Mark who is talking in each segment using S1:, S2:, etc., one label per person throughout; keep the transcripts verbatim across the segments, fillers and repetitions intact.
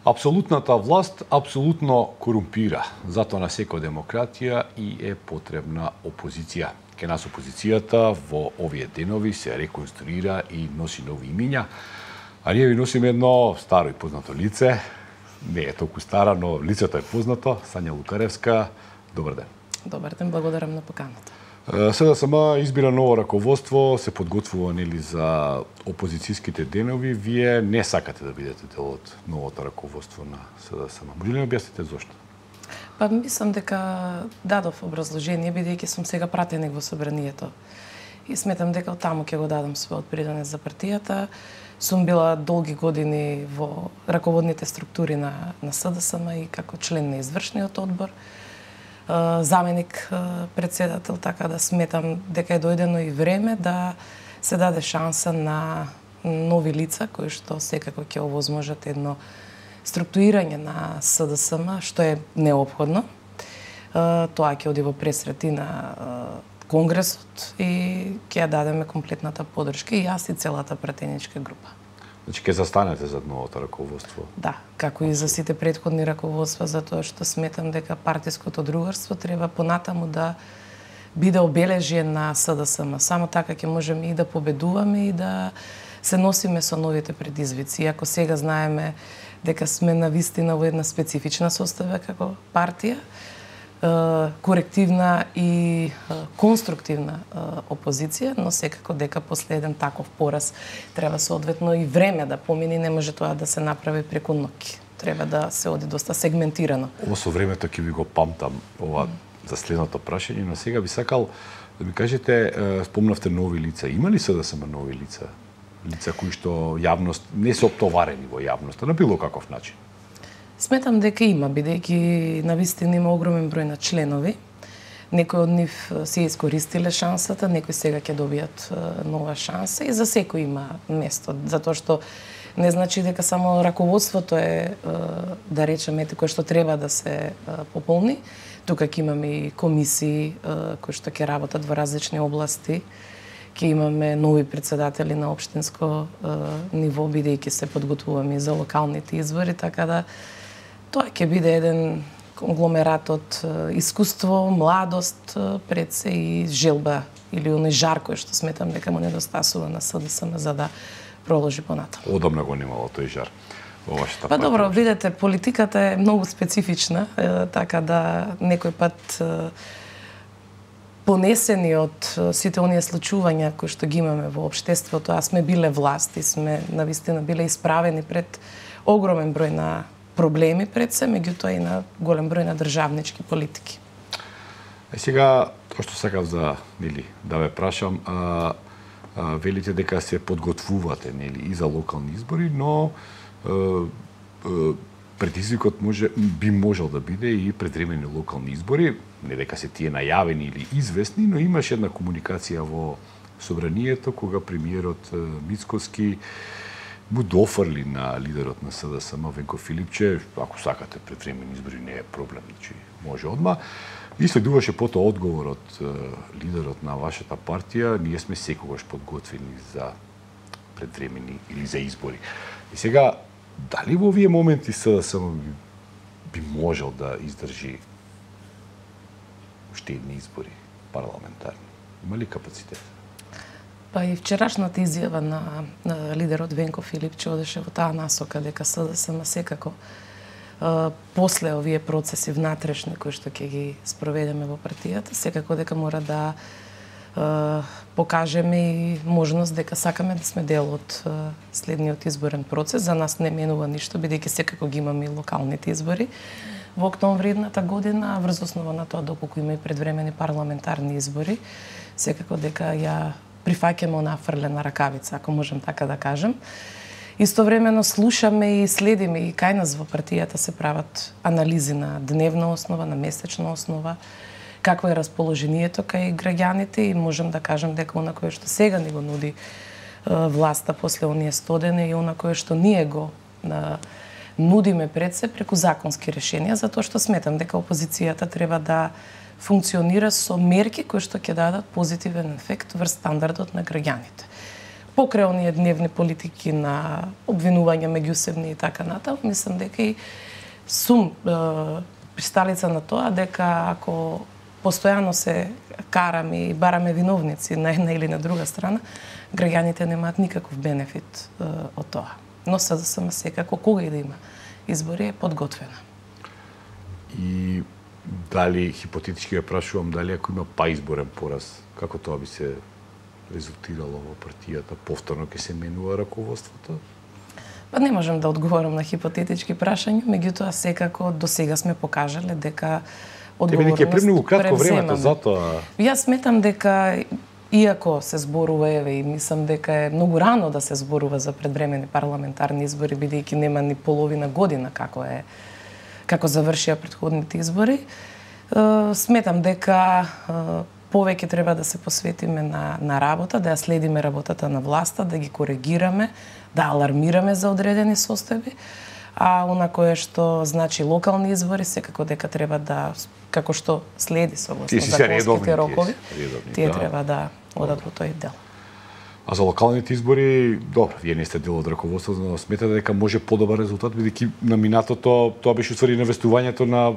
S1: Апсолутната власт апсолутно корумпира. Затоа на секоја демократија и е потребна опозиција. Ке нас опозицијата во овие денови се реконструира и носи нови имиња. А ние ви носиме едно старо и познато лице. Не е толку стара, но лицето е познато. Сања Лукаревска. Добар ден.
S2: Добар ден, благодарам на поканата.
S1: СДСМ избира ново раководство, се подготвува нели за опозицијските денови. Вие не сакате да бидете дел од новото раководство на СДСМ. Може ли ми објасните зошто?
S2: Па мислам дека дадов образложение, бидејќи сум сега пратеник во собранието. И сметам дека од таму ќе го дадам својот принос за партијата. Сум била долги години во раководните структури на, на СДСМ и како член на извршниот одбор, заменик председател, така да сметам дека е дојдено и време да се даде шанса на нови лица кои што секако ќе овозможат едно структурирање на СДСМ, што е неопходно. Тоа ќе оди во пресрети на Конгресот и ќе ја дадеме комплетната поддршка и јас и целата пратеничка група.
S1: Значи, ќе застанете за новото раководство?
S2: Да, како и за сите претходни раководства, затоа што сметам дека партиското другарство треба понатаму да биде обележје на СДСМ. Само така ќе можеме и да победуваме и да се носиме со новите предизвици. Иако сега знаеме дека сме навистина во една специфична состава како партија, корективна и конструктивна опозиција, но секако дека после еден таков пораз треба соодветно и време да помине, не може тоа да се направи преку ноќ. Треба да се оди доста сегментирано.
S1: Ово со времето ќе ви го памтам ова за следното прашање, но сега би сакал да ми кажете, спомнавте нови лица. Има ли СДСМ нови лица? Лица кои што јавност не се оптоварени во јавноста на било каков начин?
S2: Сметам дека има, бидејќи навистина има огромен број на членови. Некои од нив се искористиле шансата, некои сега ќе добијат нова шанса и за секој има место, затоа што не значи дека само раководството е, да речеме, кој што треба да се пополни. Тука ќе имаме и комисии кои што ќе работат во различни области. Ќе имаме нови председатели на општинско ниво, бидејќи се подготвуваме за локалните избори, така да тоа ќе биде еден конгломерат од искуство, младост пред се и желба или оној жар кој што сметам дека му недостасува на СДСМ за да проложи понатаму.
S1: Одамна го немало тој жар во вашата
S2: Па
S1: партија.
S2: добро, видете, политиката е многу специфична, така да некој пат понесени од сите оние случувања кои што ги имаме во општеството, а сме биле власт и сме навистина биле исправени пред огромен број на проблеми пред се, меѓутоа и на голем број на државнички политики.
S1: Е сега, тоа што сакав за, нели, да ве прашам, а, а, велите дека се подготвувате, нели, и за локални избори, но а, а, предизвикот може би можел да биде и предвремени локални избори, не дека се тие најавени или известни, но имаше една комуникација во собранието кога премиерот Мицкоски му дофрли на лидерот на СДСМ Венко Филипче, ако сакате предвремени избори не е проблем, значи може одма. И следуваше потоа одговор од лидерот на вашата партија, ние сме секогаш подготвени за предвремени или за избори. И сега, дали во овие моменти СДСМ би, би можел да издржи уште едни избори парламентарни? Има ли капацитет?
S2: Па и вчерашната изјава на, на лидерот Венко Филипче одеше во таа насока дека СДСМ секако а, после овие процеси внатрешни кои што ќе ги спроведеме во партијата, секако дека мора да а, покажеме и можност дека сакаме да сме дел од а, следниот изборен процес. За нас не менува ништо, бидејќи секако ги имаме и локалните избори во октомври едната година, врз основа на тоа доколку има и предвремени парламентарни избори, секако дека ја прифаќаме онаа фрлена ракавица, ако можем така да кажем. Истовремено слушаме и следиме и кај нас во партијата се прават анализи на дневна основа, на месечна основа, какво е расположението кај граѓаните и можем да кажем дека она кое што сега ни го нуди власта после оние стодени и она кое што ние го нудиме пред се преку законски решенија, затоа што сметам дека опозицијата треба да функционира со мерки кои што ќе дадат позитивен ефект врз стандардот на граѓаните. покрај оние дневни политики на обвинување меѓусебни и така натаму, мислам дека и сум е, присталица на тоа дека ако постојано се караме и бараме виновници на една или на друга страна, граѓаните немаат никаков бенефит е, од тоа. Но СДСМ секако, кога и да има избори, е подготвена.
S1: И дали, хипотетички ја прашувам, дали ако има па изборен пораз, како тоа би се резултирало во партијата, повторно ќе се менува раководството?
S2: Па не можам да одговорам на хипотетички прашања, меѓутоа секако до сега сме покажале дека одговорност
S1: Тебе ќе премногу кратко времето, затоа...
S2: Јас сметам дека иако се зборува, еве, и мислам дека е многу рано да се зборува за предвремени парламентарни избори, бидејќи нема ни половина година како е како завршија претходните избори, сметам дека повеќе треба да се посветиме на, на работа, да ја следиме работата на власта, да ги коригираме, да алармираме за одредени состојби, а она кое што значи локални избори, секако дека треба да, како што следи согласно законските рокови,
S1: редовни,
S2: тие
S1: да.
S2: треба да одат во тој дел.
S1: А за локалните избори, добро, вие не сте дел од раководството, но сметате дека може подобар резултат, бидејќи на минатото тоа беше уствари навестувањето на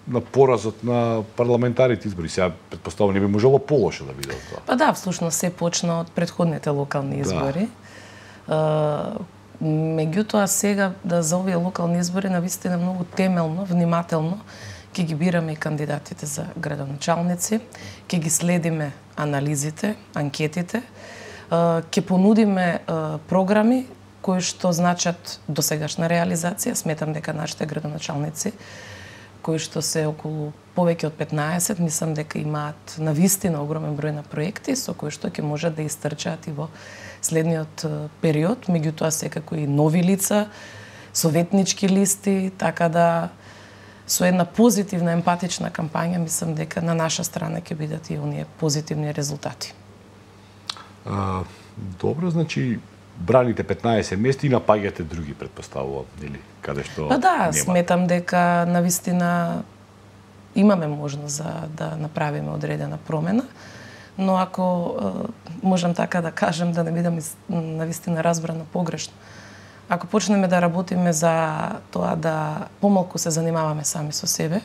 S1: на поразот на парламентарните избори. Сега претпоставувам не би можело полошо да биде тоа.
S2: Па да, всушност се почна од претходните локални избори. Да. Меѓутоа сега да за овие локални избори навистина многу темелно, внимателно ќе ги бираме и кандидатите за градоначалници, ќе ги следиме анализите, анкетите, ќе понудиме програми кои што значат досегашна реализација. Сметам дека нашите градоначалници кои што се околу повеќе од петнаесет, мислам дека имаат навистина огромен број на проекти со кои што ќе можат да истрчаат и во следниот период, меѓутоа секако и нови лица, советнички листи, така да со една позитивна емпатична кампања мислам дека на наша страна ќе бидат и оние позитивни резултати.
S1: А, добро, значи браните петнаесет мести и напаѓате други, претпоставувам, или каде што
S2: Па да,
S1: нема.
S2: сметам дека навистина имаме можност за да направиме одредена промена, но ако можам така да кажем, да не бидам навистина разбрана погрешно, ако почнеме да работиме за тоа да помалку се занимаваме сами со себе,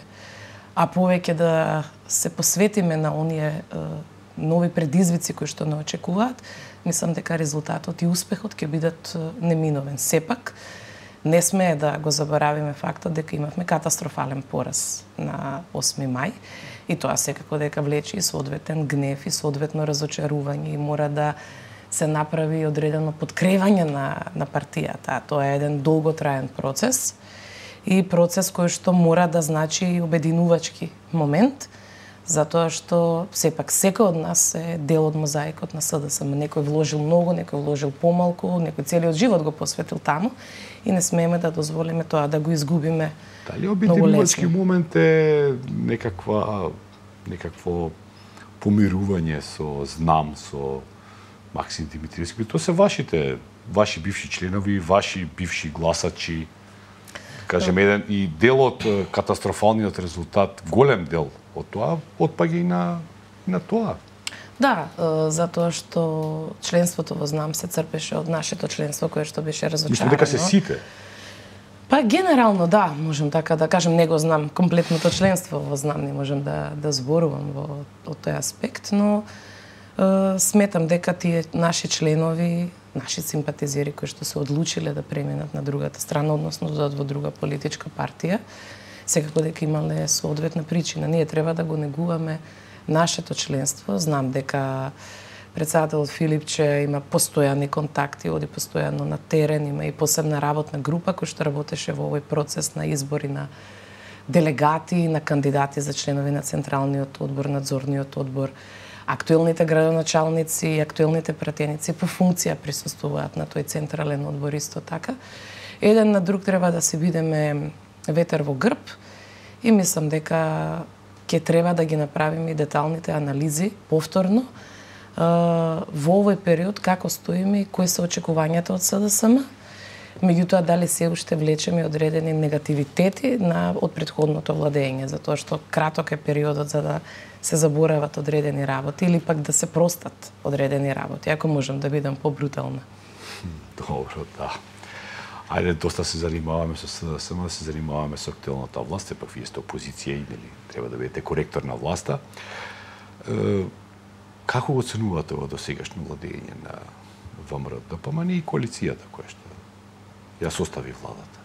S2: а повеќе да се посветиме на оние нови предизвици кои што не очекуваат, мислам дека резултатот и успехот ќе бидат неминовен. Сепак, не смее да го заборавиме фактот дека имавме катастрофален пораз на осми мај и тоа секако дека влече и соодветен гнев и соодветно разочарување и мора да се направи одредено подкревање на, на партијата. Тоа е еден долготраен процес и процес кој што мора да значи и обединувачки момент, затоа што сепак секој од нас е дел од мозаикот на СДСМ. Некој вложил многу, некој вложил помалку, некој целиот живот го посветил таму и не смееме да дозволиме тоа да го изгубиме.
S1: Дали обединувачки момент е некаква некакво помирување со знам со Максим Димитриевски? Тоа се вашите ваши бивши членови, ваши бивши гласачи. Кажем, еден и дел од катастрофалниот резултат, голем дел од тоа, отпаѓа и на, и на тоа.
S2: Да, затоа што членството во знам се црпеше од нашето членство, кое што беше разочарано.
S1: Мислам дека се сите.
S2: Па генерално да, можем така да кажем, не го знам комплетното членство во знам, не можем да да зборувам во од тој аспект, но е, сметам дека тие наши членови, наши симпатизери кои што се одлучиле да преминат на другата страна, односно да одат во друга политичка партија, секако дека имале соодветна причина. Ние треба да го негуваме нашето членство. Знам дека председателот Филипче има постојани контакти, оди постојано на терен, има и посебна работна група која што работеше во овој процес на избори на делегати, на кандидати за членови на Централниот одбор, Надзорниот одбор. Актуелните градоначалници и актуелните пратеници по функција присуствуваат на тој централен одбор исто така. Еден на друг треба да се бидеме ветер во грб и мислам дека ќе треба да ги направиме и деталните анализи повторно во овој период, како стоиме и кои се очекувањата од СДСМ. Меѓутоа, дали се уште влечеме одредени негативитети на од претходното владење, затоа што краток е периодот за да се заборават одредени работи или пак да се простат одредени работи, ако можам да бидам побрутална.
S1: Добро, да. Ајде, доста се занимаваме со СДСМ, да се занимаваме со актуелната власт, сепак вие сте опозиција и нели треба да бидете коректор на власта. Е, како го оценувате во досегашно владење на ВМРО-ДПМН и коалицијата која што ја состави владата?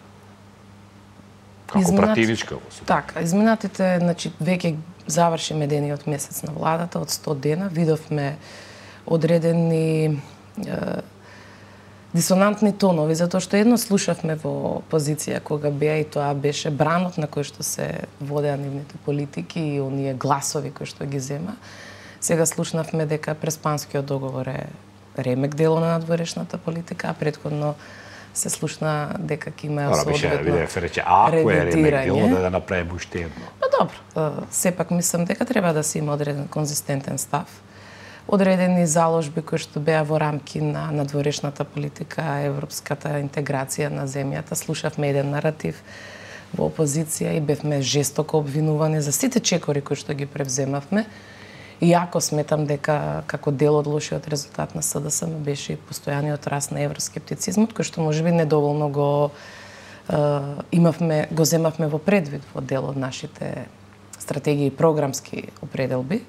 S1: Како
S2: Изминат... пратеничка
S1: во себе?
S2: Така, изминатите, значи веќе заврши медениот месец на владата, од сто дена видовме одредени е, дисонантни тонови, затоа што едно слушавме во позиција кога беа и тоа беше бранот на кој што се водеа нивните политики и оние гласови кои што ги зема. Сега слушнавме дека Преспанскиот договор е ремек дело на надворешната политика, а претходно се слушна дека ќе има
S1: соодветно рече, ако е ремек дело, да да направиме уште едно.
S2: Па добро, сепак мислам дека треба да се има одреден конзистентен став. Одредени заложби кои што беа во рамки на надворешната политика, европската интеграција на земјата. Слушавме еден наратив во опозиција и бевме жестоко обвинувани за сите чекори кои што ги превземавме. Иако сметам дека како дел од лошиот резултат на СДСМ беше и постојаниот раст на евроскептицизмот, кој што можеби недоволно го е, имавме, го земавме во предвид во дел од нашите стратегии и програмски определби.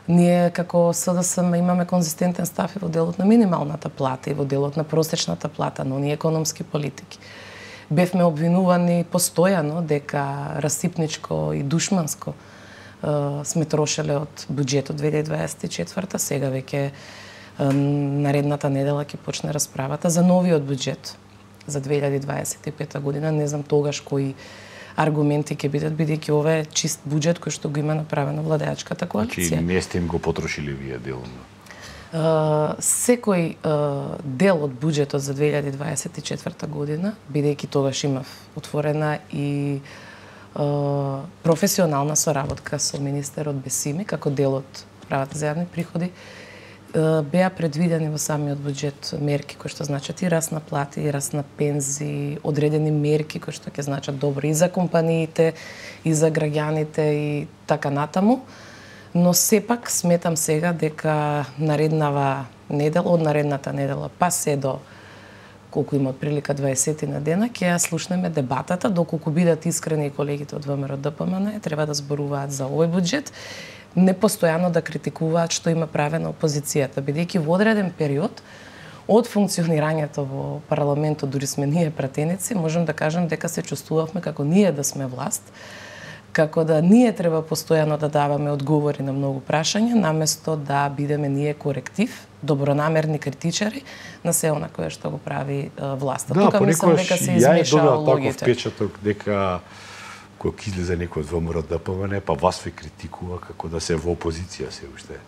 S2: Ние како СДСМ имаме конзистентен став и во делот на минималната плата и во делот на просечната плата, но ние економски политики. Бевме обвинувани постојано дека расипничко и душманско сме трошеле од буџетот две илјади дваесет и четврта, сега веќе наредната недела ќе почне расправата за новиот буџет за две илјади дваесет и пета година. Не знам тогаш кои аргументи ќе бидат, бидејќи ова е чист буџет кој што го има направено владеачката коалиција.
S1: Значи не сте им го потрошили вие делно?
S2: Uh, секој uh, дел од буџетот за две илјади дваесет и четврта година, бидејќи тогаш имав отворена и Uh, професионална соработка со министерот Бесими како дел од правата за јавни приходи, uh, беа предвидени во самиот буџет мерки кои што значат и раст на плати, и раст на пензии, одредени мерки кои што ќе значат добро и за компаниите, и за граѓаните и така натаму. Но сепак сметам сега дека нареднава недела, од наредната недела па се до колку има прилика дваесет на дена, ќе ја слушнеме дебатата, доколку бидат искрени и колегите од ВМРО-ДПМН, треба да зборуваат за овој буџет, не постојано да критикуваат што има правено опозицијата, бидејќи во одреден период од функционирањето во парламентот, дури сме ние пратеници, можам да кажам дека се чувствувавме како ние да сме власт, како да ние треба постојано да даваме одговори на многу прашања, наместо да бидеме ние коректив, добронамерни критичари на се она кое што го прави uh, власта.
S1: Да,
S2: тука мислам дека се измешаа логите.
S1: Таков впечаток дека кога излезе некој од ВМРО-ДПМН, па вас ве критикува како да се во опозиција се уште.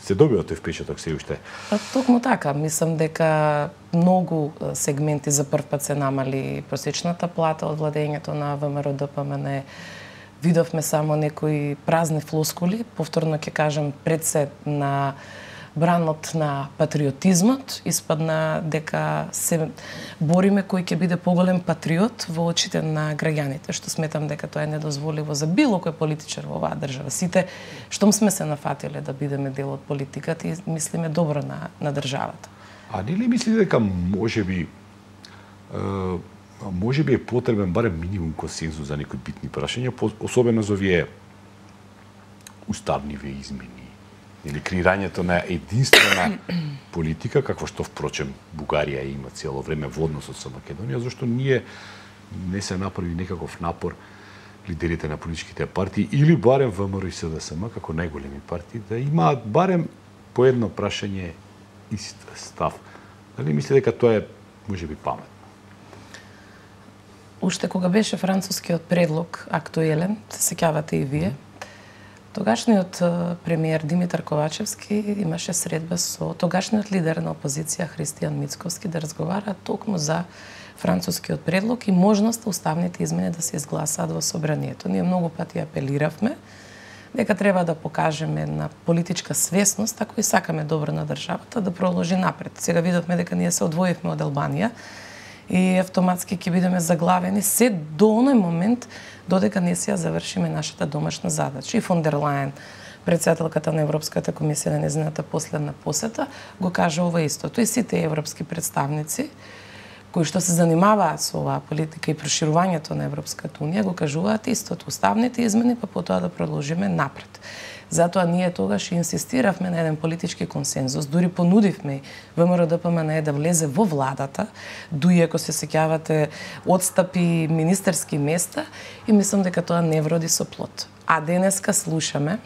S1: Се добива тој впечаток се уште?
S2: Па токму така, мислам дека многу сегменти за прв пат се намали просечната плата од владењето на ВМРО-ДПМН. Видовме само некои празни флоскули, повторно ќе кажам, пред се на бранот на патриотизмот, испадна дека се бориме кој ќе биде поголем патриот во очите на граѓаните, што сметам дека тоа е недозволиво за било кој политичар во оваа држава. Сите, штом сме се нафатиле да бидеме дел од политиката и мислиме добро на, на државата.
S1: А не ли мислите дека можеби е, може би е потребен барем минимум консензус за некои битни прашања, особено за овие уставниве измени или креирањето на единствена политика, какво што впрочем Бугарија има цело време во односот со Македонија, зашто ние не се направи некаков напор лидерите на политичките партии или барем ВМРО и СДСМ како најголеми партии да имаат барем по едно прашање ист став. Дали мислите дека тоа е можеби паметно?
S2: Уште кога беше францускиот предлог актуелен, се сеќавате и вие, тогашниот премиер Димитар Ковачевски имаше средба со тогашниот лидер на опозиција Христијан Мицковски да разговараат токму за францускиот предлог и можноста уставните измени да се изгласаат во собранието. Ние многу пати апелиравме дека треба да покажеме на политичка свесност, ако и сакаме добро на државата, да продолжи напред. Сега видовме дека ние се одвоивме од Албанија и автоматски ќе бидеме заглавени се до оној момент додека не си ја завршиме нашата домашна задача. И фон дер Лајен, председателката на Европската комисија на нејзината последна посета, го кажа ова истото. И сите европски представници кои што се занимаваат со оваа политика и проширувањето на Европската унија го кажуваат истото. Уставните измени, па потоа да продолжиме напред. Затоа ние тогаш инсистиравме на еден политички консензус, дури понудивме ВМРО-ДПМНЕ да влезе во владата, дури ако се сеќавате одстапи министерски места, и мислам дека тоа не вроди со плод. А денеска слушаме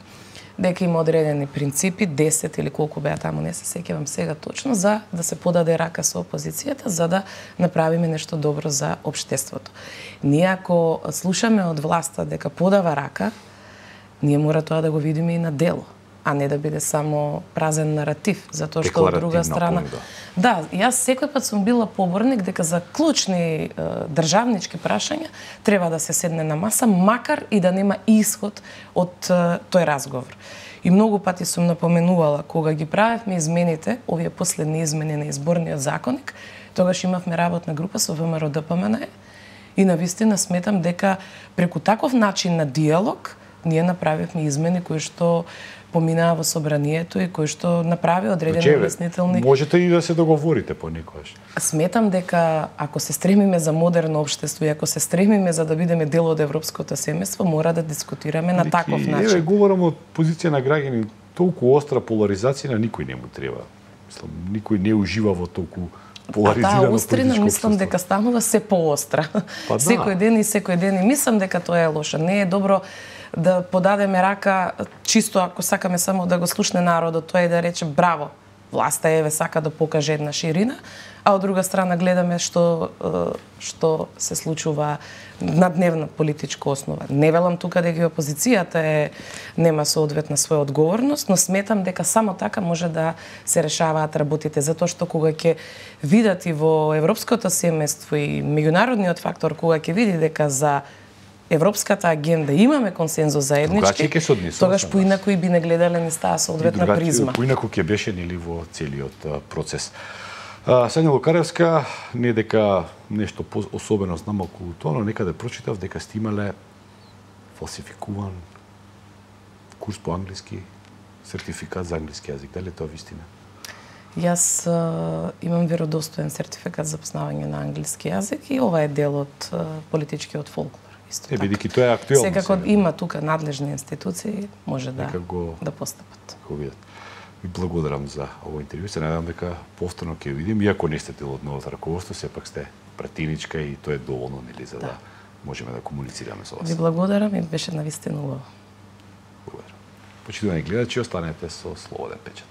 S2: дека има одредени принципи, десет или колку беа таму, не се сеќавам сега точно, за да се подаде рака со опозицијата, за да направиме нешто добро за општеството. Ние ако слушаме од власта дека подава рака, ние мора тоа да го видиме и на дело, а не да биде само празен наратив, затоа што од друга страна... Понуда. Да, јас секој пат сум била поборник дека за клучни е, државнички прашања треба да се седне на маса, макар и да нема исход од е, тој разговор. И многу пати сум напоменувала, кога ги правевме измените, овие последни измени на изборниот законник, тогаш имавме работна група со ВМРО-ДПМНЕ и навистина сметам дека преку таков начин на диалог ние направивме измени кои што поминаа во собранието и кои што направи одредени обяснителни...
S1: Можете и да се договорите понекогаш.
S2: Сметам дека ако се стремиме за модерно општество и ако се стремиме за да бидеме дел од европското семејство, мора да дискутираме на таков начин.
S1: Еве, говорам од позиција на граѓани, толку остра поларизација на никој не му треба. Мислам, никој не ужива во толку поларизирано политичко општество. А таа острина мислам дека станува се поостра. Па, да. Секој ден и секој ден, и мислам дека тоа е лошо. Не е добро да подадеме рака чисто ако сакаме само да го слушне народот, тоа е да рече браво, власта еве сака да покаже една ширина, а од друга страна гледаме што што се случува на дневна политичка основа. Не велам тука дека опозицијата е нема соодветна своја одговорност, но сметам дека само така може да се решаваат работите, затоа што кога ќе видат и во европското семејство и меѓународниот фактор, кога ќе види дека за европската агенда имаме консензус заеднички, тогаш поинаку и би не гледале низ таа соодветна призма. Поинаку ќе беше нели во целиот процес. Сања Лукаревска, не дека нешто особено знам околу тоа, но некаде прочитав дека сте имале фалсификуван курс по англиски, сертификат за англиски јазик. Дали тоа вистина?
S2: Јас а, имам веродостоен сертификат за познавање на англиски јазик и ова е дел од а, политичкиот фолклор.
S1: Е, бидејќи тоа е актуелно.
S2: Секако има тука надлежни институции, може да
S1: го,
S2: да постапат.
S1: Го видат. Ви благодарам за овој интервју. Се надевам дека повторно ќе видим, иако не сте дел од новото раководство, сепак сте пратиничка и тоа е доволно, нели, за да, да можеме да комуницираме со вас.
S2: Ви благодарам и беше навистина убаво.
S1: Благодарам. Почитувани гледачи, останете со Слободен печат.